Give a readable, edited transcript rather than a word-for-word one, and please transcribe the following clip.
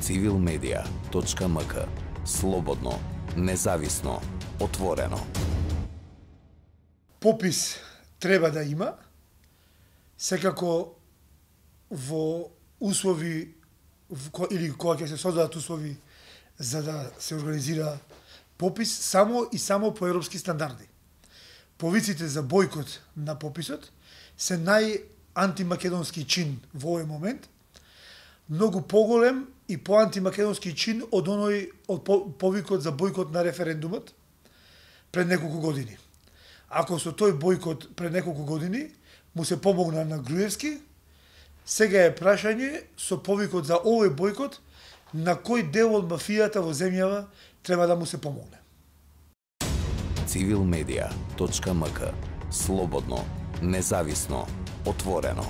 civilmedia.mk. Слободно, независно, отворено. Попис треба да има, секако во услови или кога ќе се создадат услови за да се организира попис само и само по европски стандарди. Повиците за бојкот на пописот се најантимакедонски чин во овој момент, многу поголем и поантимакедонски чин од повикот за бојкот на референдумот пред неколку години. Ако со тој бојкот пред неколку години му се помогна на Груевски, сега е прашање со повикот за овој бојкот на кој дел од мафијата во земјава треба да му се помогне. civilmedia.mk. Слободно, независно, отворено.